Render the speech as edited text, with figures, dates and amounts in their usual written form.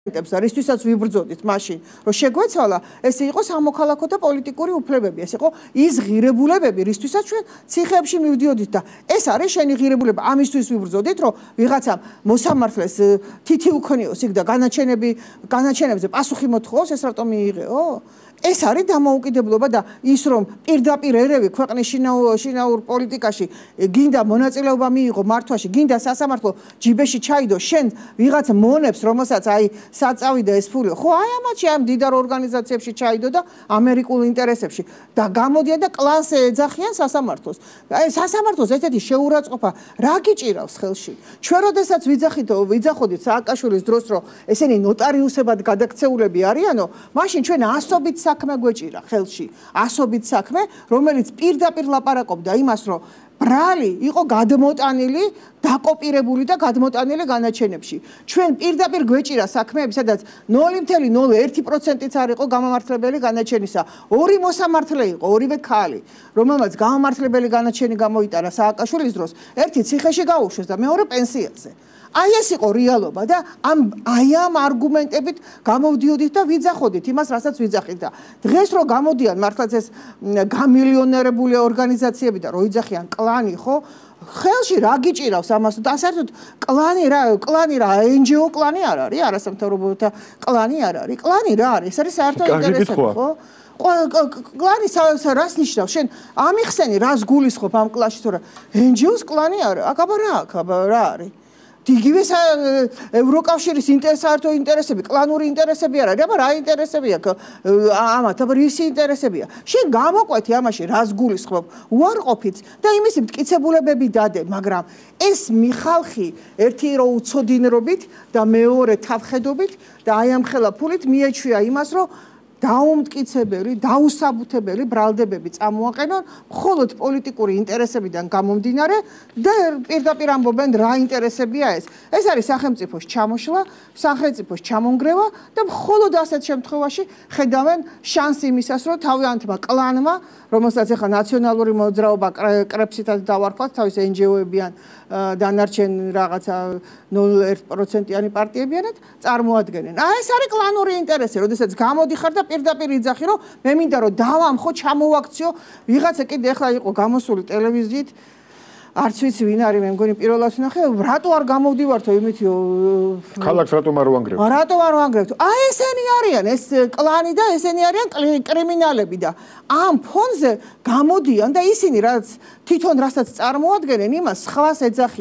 რისთვისაც ვიბრძოდით მაშინ, რომ შეგვეცვალა, ეს იყო სამოქალაქო და პოლიტიკური უფლებები, ეს იყო ის ღირებულებები, რისთვისაც ჩვენ ციხეებში მივდიოდით და ეს არის შენი ღირებულება, ამისთვის ვიბრძოდით, რომ ვიღაცამ მოსამართლეს თითი უქნიოს იქ და განაჩენებზე პასუხი მოთხოვოს, ეს რატომ მიიღეო? ეს არის დამოუკიდებლობა და ის რომ პირდაპირ ერევი ქვეყნის შინაურ პოლიტიკაში გინდა მონაწილეობა მიიღო მართვაში, გინდა სასამართლო ჯიბეში ჩაიდო, შენ ვიღაც მონებს, რომელსაც აი საწავი და ეს ფული, ხო აი ამათში ამ დიდარ ორგანიზაციებში ჩაიდო და ამერიკულ ინტერესებში და გამოდიან და კლანს ეძახიან სასამართლოს. აი სასამართლოს ესეთი შეურაცხყოფა რა გიჭირავს ხელში? ჩვენ როდესაც ვიძახოდით სააკაშვილის დროს, რომ ესენი ნოტარიუსებად გადაქცეულები არიანო, მაშინ ჩვენ ასობით საქმე გვეჭირა ხელში, ასობით საქმე, რომელიც პირდაპირ ლაპარაკობდა იმას, რომ ბრალი იყო გადმოტანილი, დაკოპირებული და გადმოტანილი განაჩენებში. ჩვენ პირდაპირ გვეჭირა საქმეები, სადაც 0.01%-იც არ იყო გამამართლებელი განაჩენისა. ორი მოსამართლე იყო, ორივე ქალი, რომელმაც გამამართლებელი განაჩენი გამოიტანა სააკაშვილის დროს, ერთი ციხეში გაუშვეს და მეორე პენსიაზე. აი ეს იყო რეალობა და აი ამ არგუმენტებით გამოვდიოდით და ვიძახოდით იმას, რასაც ვიძახით და დღეს რო გამოდიან მართლაც ეს გამილიონერებული ორგანიზაციები და რო იძახიან კლანი, ხო? ხელში რა გიჭირავს ამას და საერთოდ კლანი რა NGO კლანი არ არის, არასამთავრობოთა კლანი არ არის. კლანი რა არის? ეს არის საერთო ინტერესები, ხო? კლანი რას ნიშნავს? შენ ამიხსენი რას გულისხმობ ამ კლანში, თორე NGO-ს კლანი არა. აბა რა არის? იგივე ევროკავშირის საერთო ინტერესები, კლანური ინტერესები არ არის, აბა რა ინტერესები აქვს ამათ, აბა რისი ინტერესებია? შენ გამოყვეთი ამაში, რას გულისხმობ, უარყოფით და იმისი მტკიცებულებები დადე, მაგრამ ეს მიხალხი ერთი რო უცოდინრობით და მეორე თავხედობით და აი ამ ხელა ფულით მიეჩვია იმას, რომ დაუმტკიცებელი, დაუსაბუთებელი ბრალდებები წამოაყენონ მხოლოდ პოლიტიკური ინტერესებიდან გამომდინარე და პირდაპირ ამბობენ რა ინტერესებია ეს. ეს არის სახელმწიფოს ჩამოშლა, სახელმწიფოს ჩამონგრევა და მხოლოდ ასეთ შემთხვევაში ხედავენ შანსი იმისას, რომ თავიანთმა კლანმა, რომელსაც ახლა ნაციონალური მოძრაობა კრებსითაც დავარქვათ, თავის NGO-ებიან დანარჩენ რაღაცა 0.1%-იანი პარტიებიანად წარმოადგენენ. ეს არის კლანური ინტერესი, როდესაც გამოდიხარ და პირდაპირ იძახი, რომ მე მინდა რომ დავამხო, ჩამოვაქციო, ვიღაცა კიდე ახლა იყო გამოსული ტელევიზიით, არც ვიცი ვინ არის, მე მგონი პირველად ვნახე, რატო არ გამოვდივართო იმითიო ქალაქს რატომ არ ვანგრევთ? რატო არ ვანგრევთ? ესენი არიან, ეს კლანი და ესენი არიან კრიმინალები და ამ ფონზე გამოდიან და ისინი რაც თვითონ რასაც წარმოადგენენ, იმას სხვას ეძახიან.